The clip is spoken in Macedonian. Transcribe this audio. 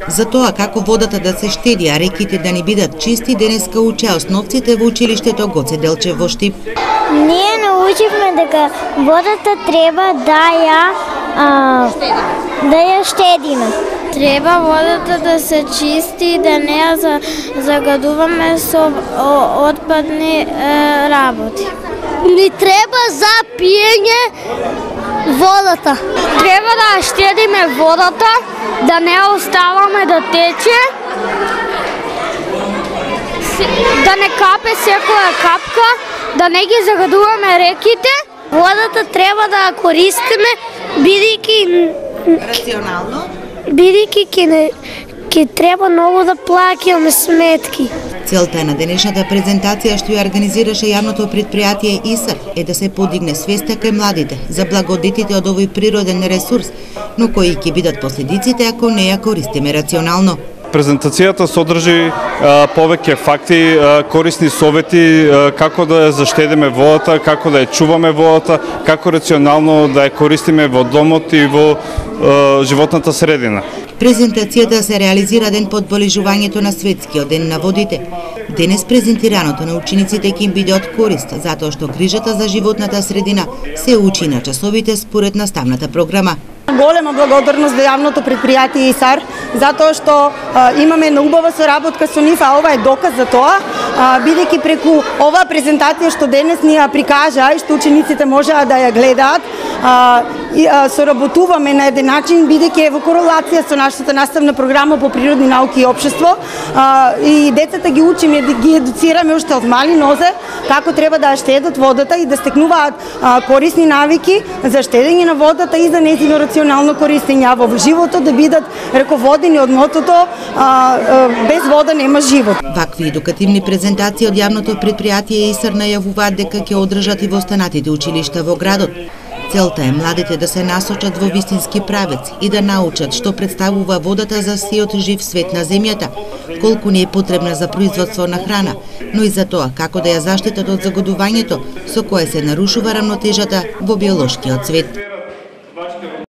За тоа како водата да се штеди, а реките да не бидат чисти, денеска учеа основците во училиштето Гоце Делчев во Штип. Ние научивме дека водата треба да ја штедиме. Треба водата да се чисти, да не ја загадуваме со отпадни работи. Ни треба за пиење водата. Треба да штедиме водата, да не оставаме да тече, да не капе секоја капка, да не ги загадуваме реките. Водата треба да ја користиме, бидејќи Рационално? Бидејќи ќе треба многу да плаќаме сметки. Целта на денешната презентација што ја организираше јавното предпријатие ИСАР е да се подигне свеста кај младите за благодетите од овој природен ресурс, но кои ќе бидат последиците ако не ја користиме рационално. Презентацијата содржи повеќе факти, корисни совети како да ја заштедиме водата, како да ја чуваме водата, како рационално да ја користиме во домот и во животната средина. Презентацијата се реализира ден по одбележувањето на Светскиот ден на водите. Денес презентираното на учениците ќе им биде од корист, затоа што грижата за животната средина се учи на часовите според наставната програма. Голема благодарност до јавното предпријатие ИСАР, затоа што имаме една убава соработка со нив, а ова е доказ за тоа, бидејќи преку оваа презентација што денес ни ја прикажа и што учениците можеа да ја гледаат, соработуваме на еден начин, бидејќи е во корелација со нашата наставна програма по природни науки и општество, и децата ги учиме, ги едуцираме уште од мали нозе како треба да штедат водата и да стекнуваат корисни навики за штедење на водата и за нејзино рационално користење, а во животот да бидат раководени од мотото без вода нема живот. Вакви едукативни презентации од јавното предпријатие ИСАР најавуваат дека ќе одржат и во останатите училишта во градот. Целта е младите да се насочат во вистински правец и да научат што представува водата за сиот жив свет на земјата, колку не е потребна за производство на храна, но и за тоа како да ја заштитат од загадувањето со кое се нарушува рамнотежата во биолошкиот свет.